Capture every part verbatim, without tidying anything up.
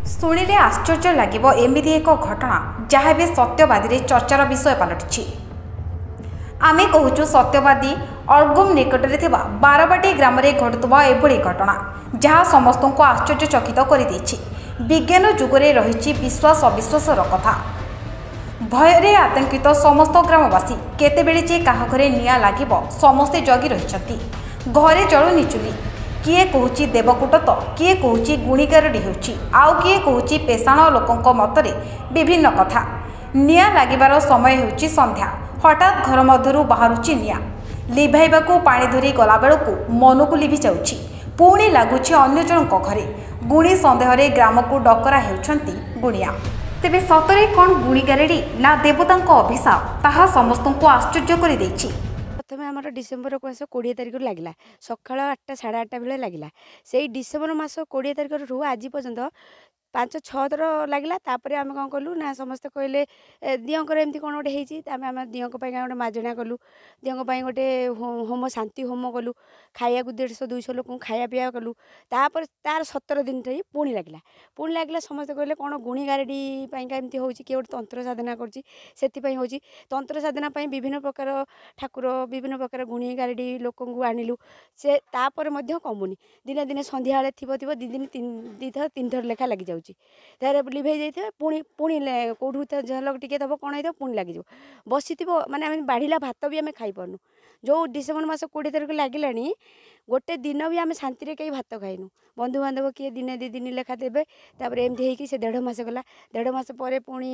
ଶୁଣିଲେ ଆଶ୍ଚର୍ଯ୍ୟ ଲାଗିବ ଏମିତି ଏକ ଘଟଣା ଯାହା ଏବେ ସତ୍ୟବାଦୀରେ ଚର୍ଚ୍ଚାର ବିଷୟ ପାଲଟିଛି। ଆମେ କହୁଛୁ ସତ୍ୟବାଦୀ ଅଲଗୁମ ନିକଟରେ ଥିବା ବାରବାଟୀ ଗ୍ରାମରେ ଘଟୁଥିବା ଏଭଳି ଘଟଣା ଯାହା ସମସ୍ତଙ୍କୁ ଆଶ୍ଚର୍ଯ୍ୟଚକିତ କରିଦେଇଛି। ବିଜ୍ଞାନ ଯୁଗରେ ରହିଛି ବିଶ୍ୱାସ ଅବିଶ୍ୱାସର କଥା। ଭୟରେ ଆତଙ୍କିତ ସମସ୍ତ ଗ୍ରାମବାସୀ କେତେବେଳେ ଯେ କାହା ଘରେ ନିଆଁ ଲାଗିବ ସମସ୍ତେ ଜଗି ରହିଛନ୍ତି। ଘରେ ଜଳୁନି ଚୁଲି। କିଏ କହୁଛି ଦେବକୂଟ ତ କିଏ କହୁଛି ଗୁଣିଗାରଡ଼ି ହେଉଛି, ଆଉ କିଏ କହୁଛି ପେଶାଣ। ଲୋକଙ୍କ ମତରେ ବିଭିନ୍ନ କଥା। ନିଆଁ ଲାଗିବାର ସମୟ ହେଉଛି ସନ୍ଧ୍ୟା। ହଠାତ୍ ଘର ମଧ୍ୟରୁ ବାହାରୁଛି ନିଆଁ। ଲିଭାଇବାକୁ ପାଣି ଧରି ଗଲାବେଳକୁ ମନକୁ ଲିଭି ଯାଉଛି, ପୁଣି ଲାଗୁଛି ଅନ୍ୟ ଜଣଙ୍କ ଘରେ। ଗୁଣି ସନ୍ଦେହରେ ଗ୍ରାମକୁ ଡକରା ହେଉଛନ୍ତି ଗୁଣିଆ। ତେବେ ସତରେ କ'ଣ ଗୁଣିଗାରେଡ଼ି ନା ଦେବତାଙ୍କ ଅଭିଶାପ, ତାହା ସମସ୍ତଙ୍କୁ ଆଶ୍ଚର୍ଯ୍ୟ କରିଦେଇଛି। ପ୍ରଥମେ ଆମର ଡିସେମ୍ବର ମାସ କୋଡ଼ିଏ ତାରିଖରୁ ଲାଗିଲା, ସକାଳ ଆଠଟା ସାଢ଼େ ଆଠଟା ବେଳେ ଲାଗିଲା। ସେଇ ଡିସେମ୍ବର ମାସ କୋଡ଼ିଏ ତାରିଖରୁ ଆଜି ପର୍ଯ୍ୟନ୍ତ ପାଞ୍ଚ ଛଅ ଥର ଲାଗିଲା। ତାପରେ ଆମେ କ'ଣ କଲୁ ନା ସମସ୍ତେ କହିଲେ ଦିଅଁଙ୍କର ଏମିତି କ'ଣ ଗୋଟେ ହେଇଛି। ଆମେ ଆମ ଦିଅଁଙ୍କ ପାଇଁ ଗୋଟେ ମାଜଣା କଲୁ, ଦିଅଁଙ୍କ ପାଇଁ ଗୋଟେ ହୋମ ଶାନ୍ତି ହୋମ କଲୁ, ଖାଇବାକୁ ଦେଢ଼ଶହ ଦୁଇଶହ ଲୋକଙ୍କୁ ଖାଇବା ପିଇବା କଲୁ। ତାପରେ ତାର ସତର ଦିନ ଠାଇ ପୁଣି ଲାଗିଲା, ପୁଣି ଲାଗିଲା। ସମସ୍ତେ କହିଲେ କ'ଣ ଗୁଣି ଗାରେଡ଼ି ପାଇଁକା ଏମିତି ହେଉଛି, କିଏ ଗୋଟେ ତନ୍ତ୍ର ସାଧନା କରୁଛି ସେଥିପାଇଁ ହେଉଛି। ତନ୍ତ୍ର ସାଧନା ପାଇଁ ବିଭିନ୍ନ ପ୍ରକାର ଠାକୁର, ବିଭିନ୍ନ ପ୍ରକାର ଗୁଣି ଗାରେଡ଼ି ଲୋକଙ୍କୁ ଆଣିଲୁ, ସେ ତାପରେ ମଧ୍ୟ କମୁନି। ଦିନେ ଦିନେ ସନ୍ଧ୍ୟାବେଳେ ଥିବ ଥିବ ଦୁଇ ଦିନ ଦୁଇ ଥର ତିନି ଥର ଲେଖା ଲାଗିଯାଉଛି। ତାରେ ଲିଭେଇ ଯାଇଥିବ, ପୁଣି ପୁଣି କେଉଁଠୁ ଝଲକ ଟିକେ ଥବ କ'ଣ ହେଇଥିବ ପୁଣି ଲାଗିଯିବ। ବସିଥିବ ମାନେ ଆମେ ବାଢ଼ିଲା ଭାତ ବି ଆମେ ଖାଇପାରୁନୁ। ଯେଉଁ ଡିସେମ୍ବର ମାସ କୋଡ଼ିଏ ତାରିଖ ଲାଗିଲାଣି, ଗୋଟେ ଦିନ ବି ଆମେ ଶାନ୍ତିରେ କେହି ଭାତ ଖାଇନୁ। ବନ୍ଧୁବାନ୍ଧବ କିଏ ଦିନେ ଦୁଇ ଦିନ ଲେଖା ଦେବେ। ତାପରେ ଏମିତି ହେଇକି ସେ ଦେଢ଼ ମାସ ଗଲା। ଦେଢ଼ ମାସ ପରେ ପୁଣି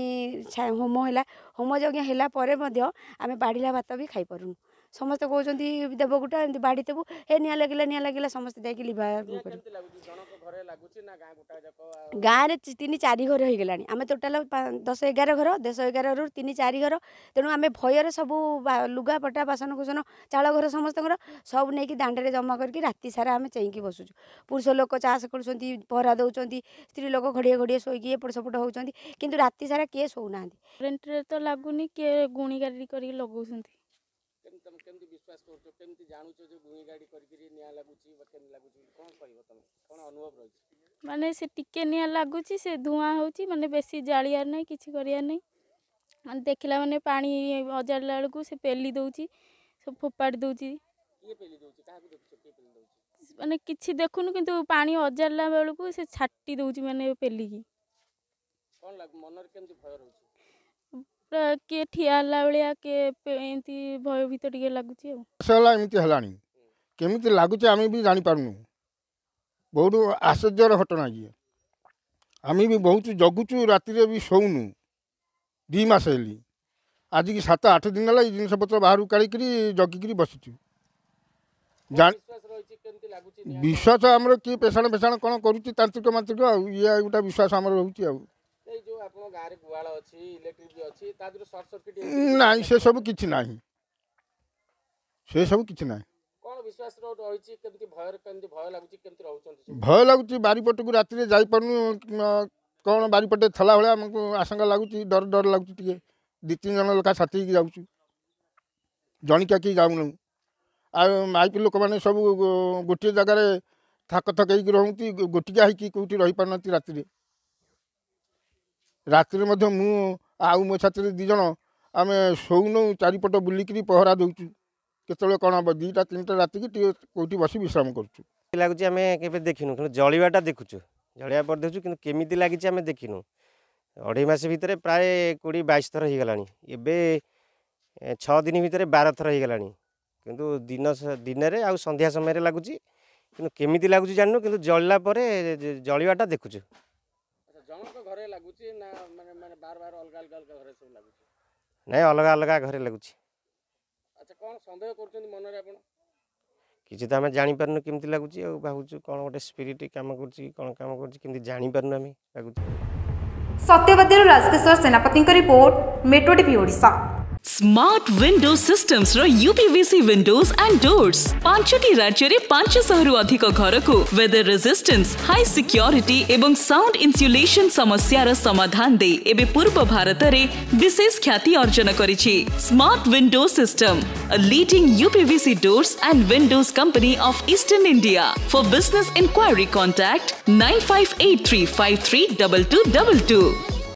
ହୋମ ହେଲା। ହୋମ ଯଜ୍ଞ ହେଲା ପରେ ମଧ୍ୟ ଆମେ ବାଢ଼ିଲା ଭାତ ବି ଖାଇପାରୁନୁ। ସମସ୍ତେ କହୁଛନ୍ତି ଦେବକୁଟା ଏମିତି ବାଢ଼ିଥିବୁ, ହେ ନିଆଁ ଲାଗିଲା ନିଆଁ ଲାଗିଲା, ସମସ୍ତେ ଯାଇକି ଲିଭା। ଗାଁରେ ତିନି ଚାରି ଘର ହେଇଗଲାଣି। ଆମେ ଟୋଟାଲ ଦଶ ଏଗାର ଘର, ଦଶ ଏଗାରରୁ ତିନି ଚାରି ଘର। ତେଣୁ ଆମେ ଭୟରେ ସବୁ ଲୁଗାପଟା, ବାସନକୁସନ, ଚାଳ ଘର ସମସ୍ତଙ୍କର ସବୁ ନେଇକି ଦାଣ୍ଡରେ ଜମା କରିକି ରାତି ସାରା ଆମେ ଚେଇଁକି ବସୁଛୁ। ପୁରୁଷ ଲୋକ ଚାଷ କରୁଛନ୍ତି, ପହରା ଦେଉଛନ୍ତି, ସ୍ତ୍ରୀ ଲୋକ ଘଡ଼ିଏ ଘଡ଼ିଏ ଶୋଇକି ଏପଟ ସେପଟ ହେଉଛନ୍ତି, କିନ୍ତୁ ରାତି ସାରା କିଏ ଶୋଉନାହାନ୍ତି। କରେଣ୍ଟରେ ତ ଲାଗୁନି, କିଏ ଗୁଣି ଗାରେଡ଼ି କରିକି ଲଗାଉଛନ୍ତି। ତମେ କେମିତି ବିଶ୍ୱାସ କରୁଛ, କେମିତି ଜାଣୁଛ ଯେ ଗୁଣି ଗାଡ଼ି କରିକିରି ନିଆଁ ଲାଗୁଛି ବା କେମିତି ଲାଗୁଛି, କ'ଣ କହିବ ତମେ, କ'ଣ ଅନୁଭବ ରହିଛି? ମାନେ ସେ ଟିକେ ନିଆଁ ଲାଗୁଛି, ସେ ଧୂଆଁ ହେଉଛି, ମାନେ ବେଶୀ ଜାଳିବାର ନାହିଁ, କିଛି କରିବାର ନାହିଁ। ମାନେ ଦେଖିଲା ମାନେ ପାଣି ଅଜାଡ଼ିଲା ବେଳକୁ ସେ ପେଲି ଦେଉଛି, ସବୁ ଫୋପାଡ଼ି ଦେଉଛି। କିଏ ପେଲି ଦେଉଛି, କାହାକୁ ଦେଖୁଛ କିଏ ପେଲି ଦେଉଛି? ମାନେ କିଛି ଦେଖୁନୁ, କିନ୍ତୁ ପାଣି ଅଜାଡ଼ିଲା ବେଳକୁ ସେ ଛାଟି ଦେଉଛି, ମାନେ ପେଲିକି। କ'ଣ ଲାଗୁ ମନରେ, କେମିତି ଭୟ ରହୁଛି? ପୁରା କିଏ ଠିଆ ହେଲା ଭଳିଆ, କିଏ ଏମିତି ଭୟଭୀତ ଟିକେ ଲାଗୁଛି। ଆଉ ହେଲା ଏମିତି ହେଲାଣି, କେମିତି ଲାଗୁଛି ଆମେ ବି ଜାଣିପାରୁନୁ। ବହୁତ ଆଶ୍ଚର୍ଯ୍ୟର ଘଟଣା ଇଏ। ଆମେ ବି ବହୁତ ଜଗୁଛୁ, ରାତିରେ ବି ଶୋଉନୁ। ଦୁଇ ମାସ ହେଲି, ଆଜିକି ସାତ ଆଠ ଦିନ ହେଲା ଏଇ ଜିନିଷପତ୍ର ବାହାରକୁ କାଢ଼ିକିରି ଜଗିକିରି ବସିଛୁ। ବିଶ୍ୱାସ ଆମର କିଏ ପେଶାଣ ଫେଶାଣ କ'ଣ କରୁଛି, ତାନ୍ତ୍ରିକ ମାନ୍ତ୍ରିକ, ଆଉ ଇଏ ଗୋଟେ ବିଶ୍ୱାସ ଆମର ରହୁଛି। ଆଉ ନାଇଁ, ସେସବୁ କିଛି ନାହିଁ, ସେସବୁ କିଛି ନାହିଁ। ଭୟ ଲାଗୁଛି, ବାରିପଟକୁ ରାତିରେ ଯାଇପାରୁନୁ। କ'ଣ ବାରିପଟେ ଥିଲା ଭଳିଆ ଆମକୁ ଆଶଙ୍କା ଲାଗୁଛି, ଡର ଡର ଲାଗୁଛି ଟିକେ। ଦୁଇ ତିନି ଜଣ ଲେଖା ସାଥି ହେଇକି ଯାଉଛୁ, ଜଣିକିଆ କେହି ଯାଉନୁ। ଆଉ ମାଇପି ଲୋକମାନେ ସବୁ ଗୋଟିଏ ଜାଗାରେ ଥାକ ଥାକ ହେଇକି ରହୁନ୍ତି, ଗୋଟିକିଆ ହେଇକି କେଉଁଠି ରହିପାରୁନାହାନ୍ତି ରାତିରେ। ରାତିରେ ମଧ୍ୟ ମୁଁ ଆଉ ମୋ ସାଥିରେ ଦୁଇ ଜଣ ଆମେ ଶୋଉନୁ, ଚାରିପଟ ବୁଲିକିରି ପହରା ଦେଉଛୁ କେତେବେଳେ କ'ଣ ହେବ। ଦୁଇଟା ତିନିଟା ରାତିକି ଟିକେ କେଉଁଠି ବସି ବିଶ୍ରାମ କରୁଛୁ। ଲାଗୁଛି ଆମେ କେବେ ଦେଖିନୁ, କିନ୍ତୁ ଜଳିବାଟା ଦେଖୁଛୁ, ଜଳିବା ପରେ ଦେଖୁଛୁ, କିନ୍ତୁ କେମିତି ଲାଗିଛି ଆମେ ଦେଖିନୁ। ଅଢ଼େଇ ମାସ ଭିତରେ ପ୍ରାୟ କୋଡ଼ିଏ ବାଇଶ ଥର ହେଇଗଲାଣି। ଏବେ ଛଅ ଦିନ ଭିତରେ ବାର ଥର ହେଇଗଲାଣି। କିନ୍ତୁ ଦିନ ଦିନରେ ଆଉ ସନ୍ଧ୍ୟା ସମୟରେ ଲାଗୁଛି, କିନ୍ତୁ କେମିତି ଲାଗୁଛି ଜାଣିନୁ, କିନ୍ତୁ ଜଳିଲା ପରେ ଜଳିବାଟା ଦେଖୁଛୁ। ଜଣଙ୍କ ଘରେ ଲାଗୁଛି ନା ମାନେ ମାନେ ବାର ବାର ଅଲଗା ଅଲଗା ଅଲଗା ଘରେ ସବୁ ଲାଗୁଛି? ନାଇଁ, ଅଲଗା ଅଲଗା ଘରେ ଲାଗୁଛି। ଆଚ୍ଛା, କ'ଣ ସନ୍ଦେହ କରୁଛନ୍ତି ମନରେ ଆପଣ? କିଛି ତ ଆମେ ଜାଣିପାରୁନୁ କେମିତି ଲାଗୁଛି, ଆଉ ଭାବୁଛୁ କ'ଣ ଗୋଟେ ସ୍ପିରିଟ୍ କାମ କରୁଛି, କ'ଣ କାମ କରୁଛି କେମିତି ଜାଣିପାରୁନୁ ଆମେ ଲାଗୁଛି। ସତ୍ୟବାଦୀରୁ ରାଜକିଶୋର ସେନାପତିଙ୍କ report, metro TV Odisha. Smart window ସିଷ୍ଟମ୍ସର ୟୁପିଭିସି ୱିଣ୍ଡୋଜ ଆଣ୍ଡ ଡୋର୍ସ ପାଞ୍ଚଟି ରାଜ୍ୟରେ ପାଞ୍ଚଶହରୁ ଅଧିକ ଘରକୁ ୱେଦର ରେଜିଷ୍ଟାନ୍ସ ହାଇ ସିକ୍ୟୁରିଟି ଏବଂ ସାଉଣ୍ଡ ଇନ୍ସୁଲେସନ ସମସ୍ୟାର ସମାଧାନ ଦେଇ ଏବେ ପୂର୍ବ ଭାରତରେ ବିଶେଷ ଖ୍ୟାତି ଅର୍ଜନ କରିଛି smart window system a leading UPVC doors and windows company of Eastern India. For business inquiry, contact nine five eight three five three double two double two.